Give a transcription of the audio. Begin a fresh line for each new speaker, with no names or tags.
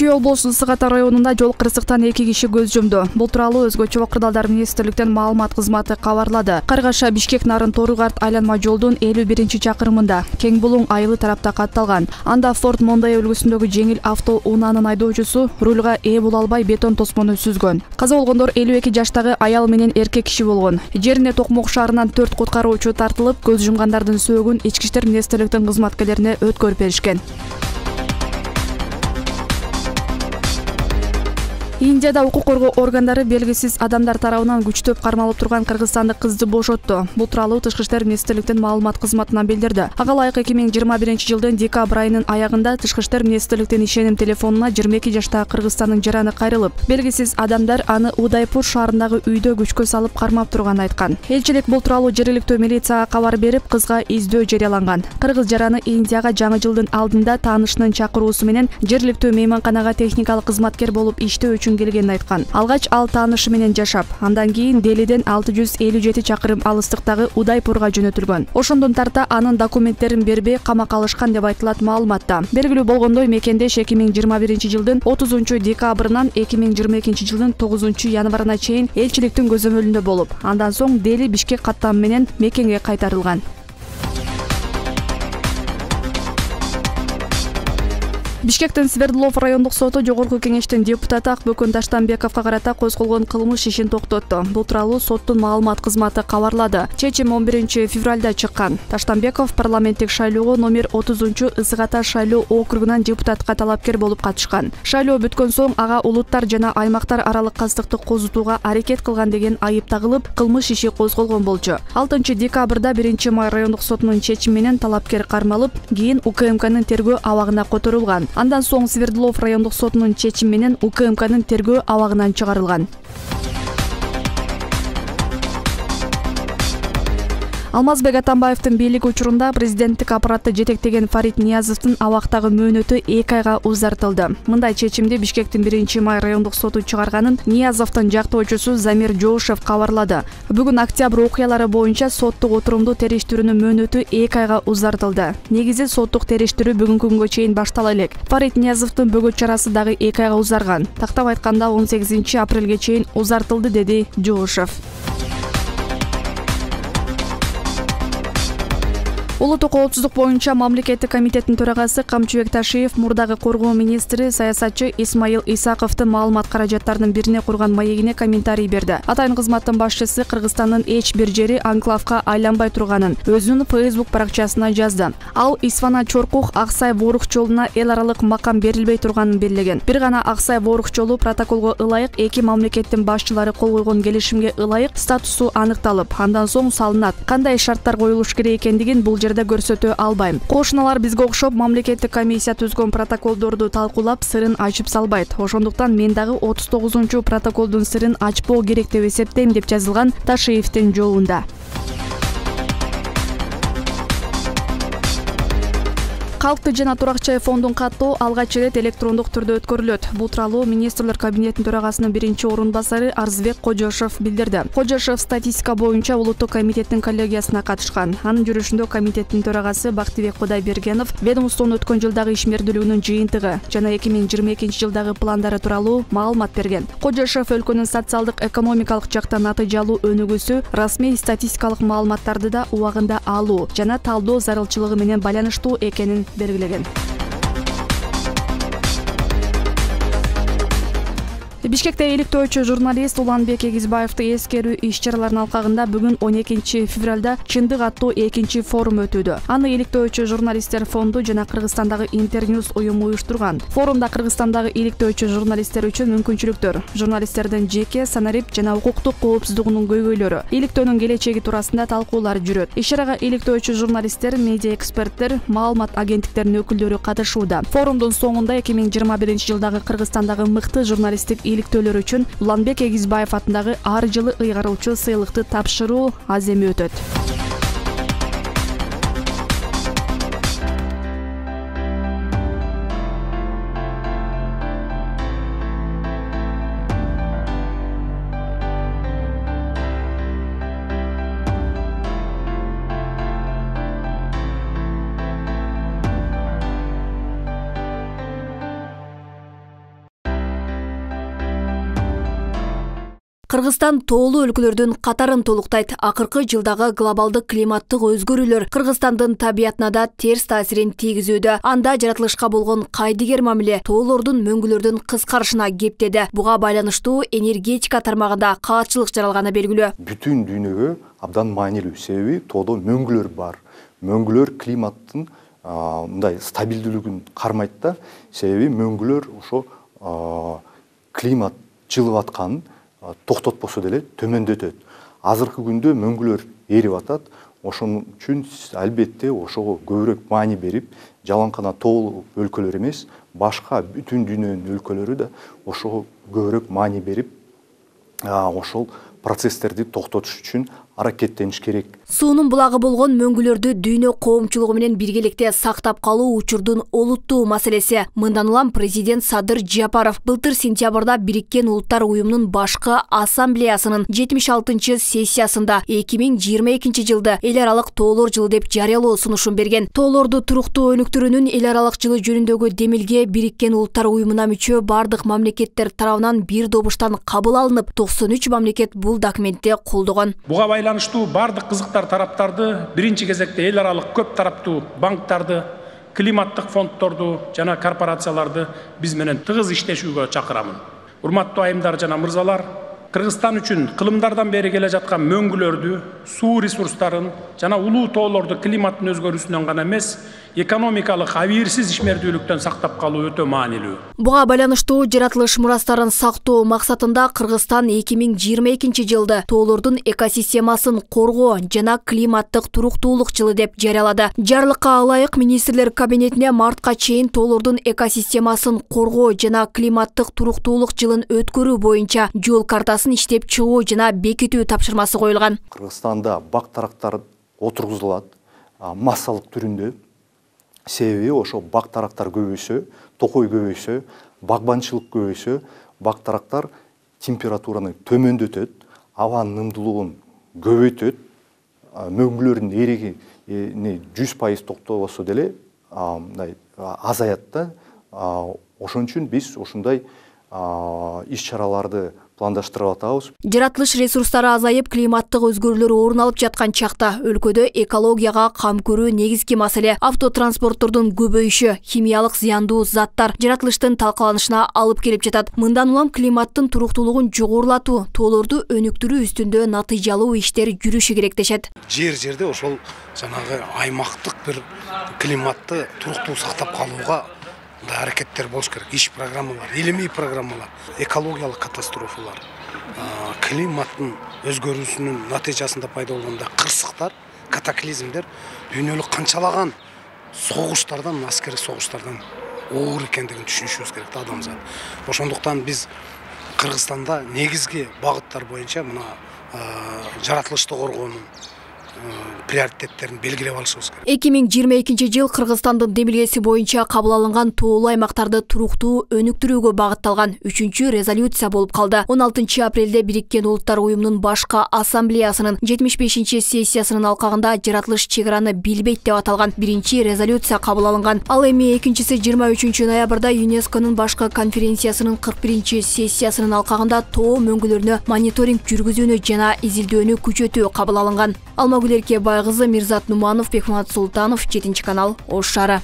Чүй облусунун Ысык Ата районунда жол кырсыктан 2 киши көз жумду. Бул тууралуу Өзгөчө кырдаалдар министрликтин маалымат кызматы кабарлады. Каргаша Бишкек Нарын Тору-Карт айланма жолдун 51-чакырымында кең булуң айылы тарапта катталган. Анда Ford Mondeo үлгүсүндөгү жеңил авто унаанын айдоочусу рулга ээ боло албай бетон тосмону сүзгөн. Каза болгондор 52 жаштагы аял менен эркек киши болгон. Жерине Токмок шаарынан 4 куткаруучу тартылып, көз жумгандардын сөөгүн ички иштер министрликтин кызматкерлерине өткөрүп беришкен. Индияда укук коргоо органдары белгисиз адамдар тарабынан күчтөп кармалып турган кыргызстандык кызды бошотту. Бул тууралуу Тышкы иштер министрликтин маалымат кызматынан билдирди. Ага ылайык 2021-жылдын декабрь айынын аягында Тышкы иштер министрликтин ишеним телефонуна 22 жаштагы Кыргызстандын жараны кайрылып, белгисиз адамдар аны Удайпур шаарындагы үйдө күчкө салып кармап турганын айткан. Элчилик бул тууралуу жергиликтүү милицияга кабар берип, кызга издөө жарыяланган. Кыргыз жараны Индияга жаңы жылдын алдында таанышынын чакыруусу менен жергиликтүү мейманканага техникалык кызматкер болуп иштөө үчүн келгенин айткан. Алгач ал таанышы менен жашап, андан кийин Делиден 657 чакырым алыстыктагы Удайпурга жөнөтүлгөн. Ошондон тарта анын документтерин бербей камакка алышкан деп айтылат маалыматта. Белгилүү болгондой, мекендеш 2021-жылдын 30-декабрынан 2022-жылдын 9-январына чейин элчиликтин көзөмөлүндө болуп, андан соң Дели Бишкек каттамы менен мекенге кайтарылган. Бишкектин Свердлов райондук соту жогорку кеңештин депутаты Акбөкөн Таштанбековго карата козголгон кылмыш ишин токтотту. Бул тууралуу соттун маалымат кызматы кабарлады. Чечим 11-февралда чыккан. Таштанбеков парламенттик шайлоого номер 30 Ысык Ата шайлоо округунан депутатка талапкер болуп катышкан. Шайлоо бүткөн соң ага улуттар жана аймактар аралык кастыкты козутууга аракет кылган деген айып тагылып, кылмыш иши козголгон болчу. 6-декабрда 1-май райондук сотунун чечими менен талапкер кармалып, кийин УКМКнын тергөө абагына которулган. Андан соң Свердлов райондук сотунун чечими менен УКМКнын тергөө абагынан чыгарылган. Алмазбек Атамбаевдин бийлиги учурунда президенттик аппаратты жетектеген Фарид Ниязовдун абактагы мөөнөтү 2 айга узартылды. Мындай чечимди Бишкектин 1-май райондук соту чыгарганын Ниязовдун жактоочусу Замир Жоушев кабарлады. Бүгүн октябрь окуялары боюнча соттук отурумду териштирүүнүн мөөнөтү 2 айга узартылды. Негизи соттук териштирүү бүгүнкү күнгө чейин баштала элек. Фарид Ниязовдун бөгөт чарасы дагы 2 айга узарган. Тактап айтканда 18-апрелге чейин узартылды, деди Жоушев. Улуттук коопсуздук боюнча мамлекеттик комитеттин төрагасы Камчыбек Ташиев мурдагы коргоо министри саясатчы Исмаил Исаковдун маалымат каражаттарынын бирине курган маегине комментарий берди. Атайын кызматтын башчысы Кыргызстандын эч бир жери анклавка айланбай турганын өзүнүн Facebook баракчасына жазды. Ал Исфана Чоркух Аксай Ворук жолуна эл аралык макам берилбей турганын белгилеген. Бир гана Аксай Ворук жолу протоколго ылайык эки мамлекеттин башчылары кол койгон келишимге ылайык статусу аныкталып, андан соң салынат. Кандай шарттар коюлуш керек экендигин бул жерде көрсөтө албайм. Кошуналар бизге окшоп мамлекеттик комиссия түзгөн протоколдорду талкуулап сырын ачып салбайт. Ошондуктан мен дагы 39-протоколдун сырын ачпоо керек деп эсептейм, деп жазылган Ташиевдин жолунда. Калктык жана турак жай фондун каттоо алгач ирет электрондук түрдө өткөрүлөт. Бул тууралуу министрлер кабинетинин төрагасынын 1-орун-басары Арзбек Кожошев билдирди. Кожошев статистика боюнча улуттук комитеттин коллегиясына катышкан. Анын жүрүшүндө комитеттин төрагасы Бактыбек Кудайбергенов ведомствонун өткөн жылдагы ишмердүүлүгүнүн жыйынтыгы жана 2022-жылдагы пландары тууралуу маалымат берген. Кожошев өлкөнүн социалдык экономикалык жактан натыйжалуу өнүгүүсү, расмий статистикалык маалыматтарды да убагында алуу жана талдоо зарылчылыгы менен байланыштуу экенин белгилеген. Бишкекте иликтөөчү журналист Уланбек Эгизбаевди эскерүү иш-чараларынын алкагында бүгүн 12-февралда Чындык аттуу 2-форум өтүүдө. Аны иликтөөчү журналисттер фонду жана Кыргызстандагы Интерньюз уюму уюштурган. Форумда Кыргызстандагы иликтөөчү журналисттер үчүн мүмкүнчүлүктөр, журналисттердин жеке, санарип жана укуктук коопсуздугунун көйгөйлөрү, иликтөөнүн келечеги туурасында талкуулар жүрөт. Иш-чарага иликтөөчү журналисттер, медиа эксперттер, маалымат агенттиктеринин өкүлдөрү катышууда. Форумдун соңунда 2021-жылдагы Кыргызстандагы мыкты журналисттик иликтөөлөр үчүн Уланбек Эгизбаев атындагы ар жылы ыйгарылчу сыйлыкты тапшыруу аземи өтөт.
Кыргызстан тоолуу өлкөлөрдүн катарын толуктайт. Акыркы жылдагы глобалдык климаттык өзгөрүүлөр Кыргызстандын табиятына да терс таасирин тийгизүүдө. Анда жаратылышка болгон кайдыгер мамиле тоолордун мөңгүлөрдүн кыскарышына кептеди. Буга байланыштуу энергетика тармагында каатчылык жаралганы белгилүү.
Бүтүн дүйнөгө абдан маанилүү, себеби тоодо мөңгүлөр бар. Мөңгүлөр климаттын мындай стабилдүүлүгүн кармайт да, себеби мөңгүлөр ошо климат жылып атканын токтотпосо деле төмөндөтөт. Азыркы күндө мөңгүлөр эрип атат. Ошон үчүн албетте ошого көбүрөөк маани берип, жалаң тоолуу өлкөлөр эмес, башка бүтүн дүйнөнүн өлкөлөрү да ошого көбүрөөк маани берип, ошол процесстерди токтотуш үчүн аракеттениш керек.
Суунун булагы болгон мөңгүлөрдү дүйнө коомчулугу менен биргеликте сактап калуу учурдун олуттуу маселеси. Мындан улам президент Садыр Жапаров былтыр сентябрда Бириккен Улуттар уюмунун башкы ассамблеясынын 76-чы сессиясында 2022 жылды эл аралык тоолор жылы деп жарыялоо сунушун берген. Тоолорду туруктуу өнүктүрүүнүн эл аралык жылы жөнүндөгү демилге Бириккен Улуттар уюмуна мүчө бардык мамлекеттер тарабынан бир добуштан кабыл алынып, 93 мамлекет бул документти колдогон.
Буга байланыштуу бардык кызыктар тараптарды биринчи кезекте эл аралык көп тараптуу банктарды, климаттык фонддорду жана корпорацияларды биз менен тыгыз иштешүүгө чакырамын. Урматтуу айымдар жана мырзалар, Кыргызстан үчүн кылымдардан бери келе жаткан мөңгүлөрдү, суу ресурстарын жана улуу тоолорду климаттын өзгөрүүсүнөн гана эмес, экономикалык абийирсиз ишмердүүлүктөн сактап калуу өтө маанилүү.
Буга байланыштуу жаратылыш мурастарын сактоо максатында Кыргызстан 2022 жылды тоолордун экосистемасын коргоо жана климаттык туруктуулук жылы деп жарыялады. Жарлыкка ылайык министрлер кабинетине мартка чейин тоолордун экосистемасын коргоо жана климаттык туруктуулук жылын өткөрүү боюнча жол картасын иштеп чыгуу жана бекитүү тапшырмасы коюлган.
Кыргызстанда бак тарактар отургузулат массалык түрүндө. Себеби ошо бак тарактар көбөйсө, токой көбөйсө, багбанчылык көбөйсө, бак тарактар температураны төмөндөтөт, абанын ымдуулугун көбөйтөт, мөңгүлөрдүн эригини 100% токтобосо деле азаят да. Ошон үчүн биз ушундай иш-чараларды пландаштырып атабыз.
Жаратылыш ресурстары азайып, климаттык өзгөрүүлөр орун алып жаткан чакта өлкөдө экологияга кам көрүү негизги маселе. Автотранспорттордун көбөйүшү, химиялык зыяндуу заттар жаратылыштын талкаланышына алып келип жатат. Мындан улам климаттын туруктуулугун жогорулатуу, тоолорду өнүктүрүү үстүндө натыйжалуу иштер жүрүшү керек дешет.
Жерде ошол жанагы аймактык бир климатты туруктуу сактап калууга аракеттер болуш керек. Иш программалар, илимий программалар, экологиялык катастрофалар, климаттын өзгөрүүсүнүн натыйжасында пайда болгон кырсыктар, катаклизмдер дүйнөлүк канчалаган согуштардан, аскердик согуштардан оор экендигин түшүнүшүбүз керек да адамзат. Ошондуктан биз Кыргызстанда негизги багыттар боюнча мына жаратылышты коргоонун приоритеттерин белгилеп алышыбыз керек.
2022 жыл Кыргызстандын демилгеси боюнча кабыл алынган тоолуу аймактарды туруктуу өнүктүрүүгө багытталган 3-чү резолюция болуп калды. 16 апрелде Бириккен Улуттар уюмунун башкы ассамблеясынын 75-чи сессиясынын алкагында жаратылыш чек араны билбейт деп аталган биринчи резолюция кабыл алынган. Ал эми экинчиси 23 ноябрда ЮНЕСКОнун башкы конференциясынын 41-чи сессиясынын алкагында тоо мөңгүлөрүнө мониторинг жүргүзүүнү жана изилдөөнү күчөтүү кабыл алынган. Алмагүл Эркебай кызы, Мирзат Нуманов, Бекмамат Султанов, 7 канал, Ош шаары.